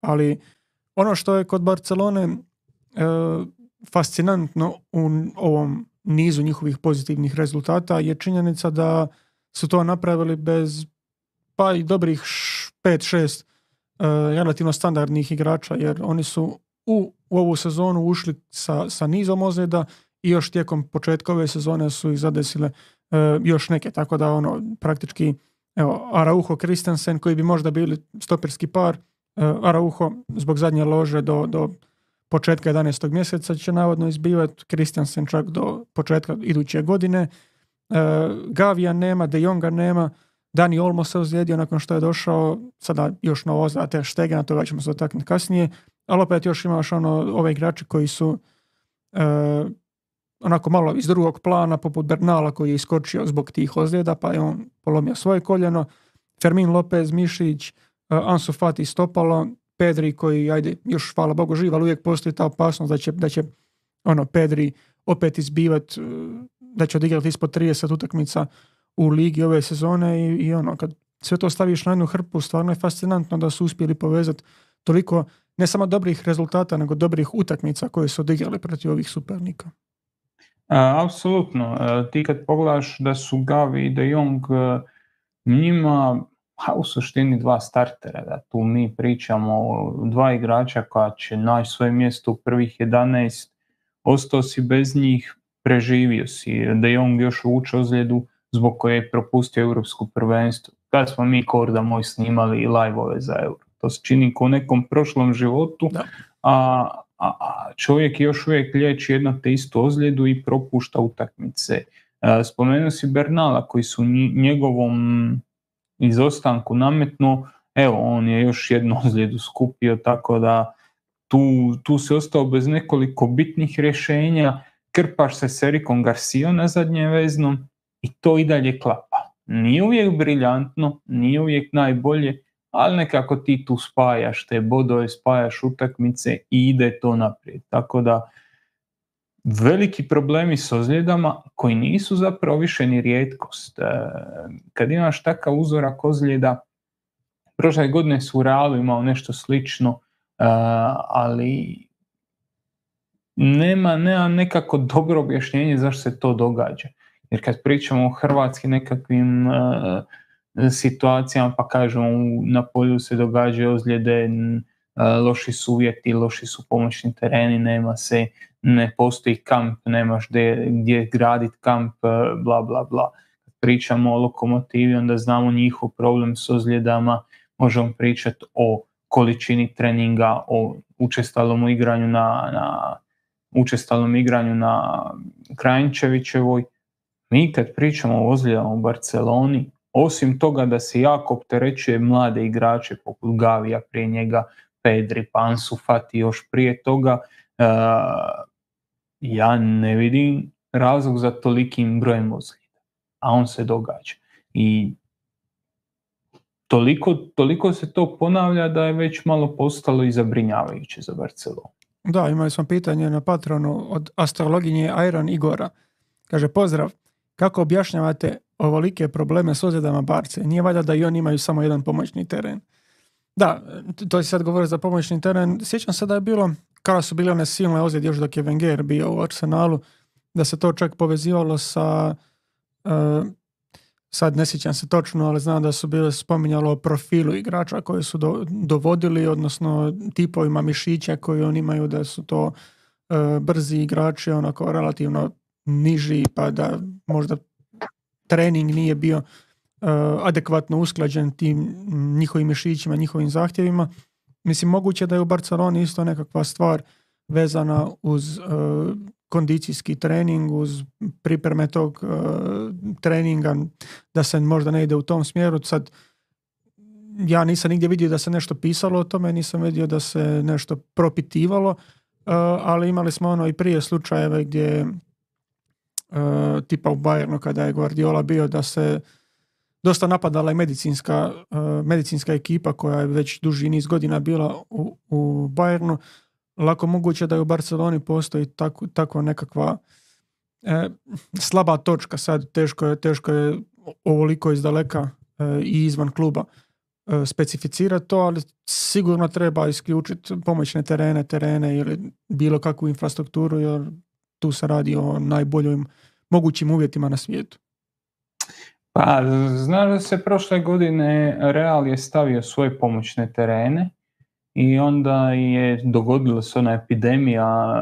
Ali ono što je kod Barcelone fascinantno u ovom nizu njihovih pozitivnih rezultata je činjenica da su to napravili bez pa i dobrih 5-6 relativno standardnih igrača, jer oni su u ovu sezonu ušli sa nizom ozljeda i još tijekom početka ove sezone su ih zadesile još neke, tako da praktički Araujo, Christensen koji bi možda bili stoperski par, Araujo zbog zadnje lože do početka 11. mjeseca će navodno izbivati, Christensen čak do početka iduće godine. Gavija nema, De Jonga nema, Dani Olmo se ozlijedio nakon što je došao, sada još novo ozljeda Ter Stegen, toga ćemo se dotaknuti kasnije, ali opet još imaš ove igrače koji su onako malo iz drugog plana, poput Bernala koji je iskočio zbog tih ozljeda, pa je on polomio svoje koljeno, Fermin Lopez, Mišić, Ansu Fati stopalo, Pedri koji, još hvala Bogu živ, ali uvijek postoji ta opasnost da će Pedri opet izbivati, da će odigrati ispod 30 utakmica u ligi ove sezone i kad sve to staviš na jednu hrpu, stvarno je fascinantno da su uspjeli povezati toliko ne samo dobrih rezultata, nego dobrih utakmica koje su odigrali protiv ovih supernika. Apsolutno. Ti kad pogledaš da su Gavi i De Jong njima u suštini dva startera, da tu mi pričamo o dva igrača koja će naći svoje mjesto u prvih 11, ostao si bez njih, preživio si. De Jong još vuče ozljedu zbog koje je propustio europsko prvenstvo. Kad smo mi, Korda moj, snimali live-ove za Euro. To se čini kao u nekom prošlom životu, a čovjek još uvijek liječi jedno te istu ozljedu i propušta utakmice. Spomenuo si Bernala koji su njegovom izostanku nametnuo, on je još jednu ozljedu skupio, tako da tu se ostao bez nekoliko bitnih rješenja, krpaš se s Erikom Garcijom na zadnjem veznom i to i dalje klapa. Nije uvijek briljantno, nije uvijek najbolje, ali nekako ti tu spajaš te bodove, spajaš utakmice i ide to naprijed. Tako da veliki problemi s ozljedama koji nisu zapravo više ni rijetkost. Kad imaš takav uzorak ozljeda, prošle godine su u Realu imao nešto slično, ali nema nekako dobro objašnjenje zašto se to događa. Jer kad pričamo o hrvatskim nekakvim situacijama, pa kažemo na polju se događaju ozljede, loši su uvjeti, loši su pomoćni tereni, ne postoji kamp, nemaš gdje graditi kamp, bla bla bla. Kad pričamo o Lokomotivi, onda znamo njihov problem s ozljedama, možemo pričati o količini treninga, o učestalom igranju na Krajnčevićevoj. Mi kad pričamo o ozljedama u Barceloni, osim toga da se jako opterećuje mlade igrače poput Gavija, prije njega Pedri, Ansu Fati još prije toga, ja ne vidim razlog za tolikim brojem ozljeda, a on se događa. I toliko se to ponavlja da je već malo postalo i zabrinjavajuće za Barcelonu. Da, imali smo pitanje na Patronu od astrologinje Iron Igora. Kaže, pozdrav, kako objašnjavate ovolike probleme s ozljedama Barce? Nije valjda da i oni imaju samo jedan pomoćni teren? Da, to se sad govori za pomoćni teren. Sjećam se da je bilo, kada su bile one silne ozljede još dok je Wenger bio u Arsenalu, da se to čak povezivalo sa, sad ne sjećam se točno, ali znam da su bile spominjalo o profilu igrača koje su dovodili, odnosno tipovima mišića koji oni imaju, da su to brzi igrači, onako relativno niži, pa da možda trening nije bio adekvatno usklađen tim njihovim mišićima, njihovim zahtjevima. Mislim, moguće da je u Barceloni isto nekakva stvar vezana uz kondicijski trening, uz pripreme tog treninga, da se možda ne ide u tom smjeru. Sad, ja nisam nigdje vidio da se nešto pisalo o tome, nisam vidio da se nešto propitivalo, ali imali smo i prije slučajeve gdje tipa u Bayernu kada je Guardiola bio, da se dosta napadala i medicinska ekipa koja je već duži niz godina bila u Bayernu. Lako moguće da je u Barceloni postoji tako nekakva slaba točka. Sad teško je ovoliko izdaleka i izvan kluba specificirati to, ali sigurno treba isključiti pomoćne terene ili bilo kakvu infrastrukturu, jer tu se radi o najboljim mogućim uvjetima na svijetu. Pa, znaš da se prošle godine Real je stavio svoje pomoćne terene i onda je dogodila se ona epidemija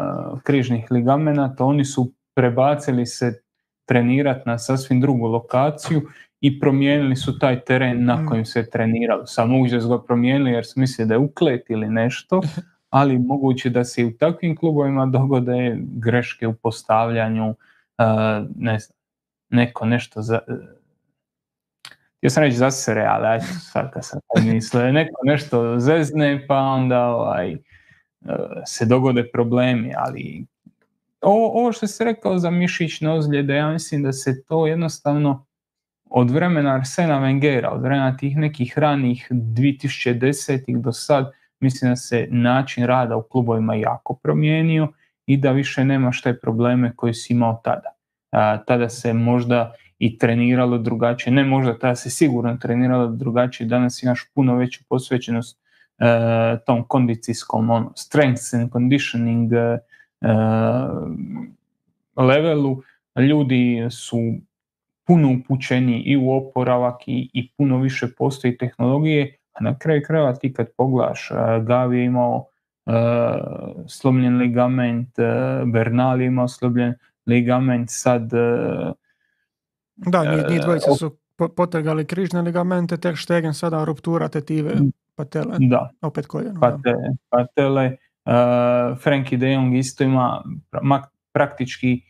križnih ligamenata, oni su prebacili se trenirati na sasvim drugu lokaciju i promijenili su taj teren na kojem se treniralo. Samo moguće da su ga promijenili jer su mislili da je uklet ili nešto, ali moguće da se i u takvim klubovima dogode greške u postavljanju, ne znam, neko nešto ja sam reći zasere, ali sad kad sam mislio, neko nešto zezne, pa onda se dogode problemi, ali ovo što si rekao za mišićne ozljede, ja mislim da se to jednostavno od vremena Arsena Wengera, od vremena tih nekih ranih 2010-ih do sad, mislim da se način rada u klubovima jako promijenio i da više nemaš te probleme koje si imao tada. Tada se možda i treniralo drugačije, ne možda, tada se sigurno treniralo drugačije, danas imaš puno veću posvećenost tom kondicijskom strength and conditioning levelu. Ljudi su puno upućeni i u oporavak i puno više postoji tehnologije, a na kraju krajeva ti kad pogledaš, Gavi je imao slomljen ligament, Bernal je imao slomljen ligament, sad da, njih dvojica su potrgali križne ligamente, Ter Stegen sada ruptura tetive patele, da, opet koljeno. Patele, Frenkie de Jong isto ima praktički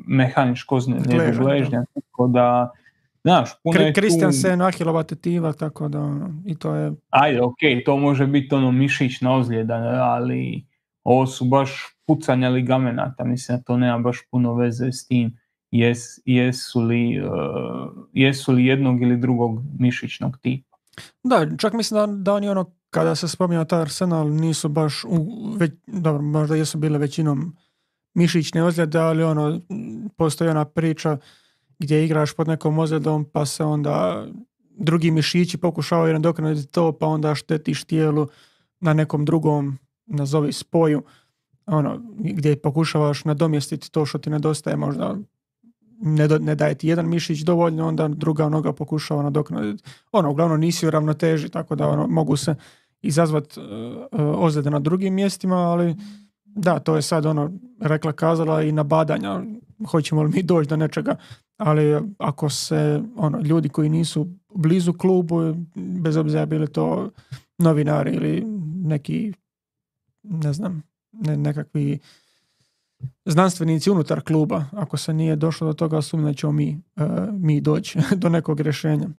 mehaničko ozljedu gležnja, tako da znaš, puno je tu... Christiansen, Ahilova tetiva, tako da i to je... Ajde, okej, to može biti mišićna ozljeda, ali ovo su baš pucanja ligamenata, mislim da to nema baš puno veze s tim jesu li jednog ili drugog mišićnog tipa. Da, čak mislim da oni kada se spominja taj Arsenal nisu baš, dobro, možda jesu bile većinom mišićne ozljede, ali postoji ona priča gdje igraš pod nekom ozljedom pa se onda drugi mišići pokušavaju nadoknaditi to, pa onda štetiš tijelu na nekom drugom, nazovi spoju, gdje pokušavaš nadomjestiti to što ti nedostaje, možda ne daje ti jedan mišić dovoljno, onda druga noga pokušava nadoknaditi. Uglavnom nisi u ravnoteži, tako da mogu se izazvati ozljede na drugim mjestima, ali da, to je sad rekla kazala i nabadanja, hoćemo li mi doći do nečega, ali ako se ljudi koji nisu blizu klubu, bez obzira bili to novinari ili neki, ne znam, nekakvi znanstvenici unutar kluba, ako se nije došlo do toga, sumnjam da ćemo mi doći do nekog rješenja.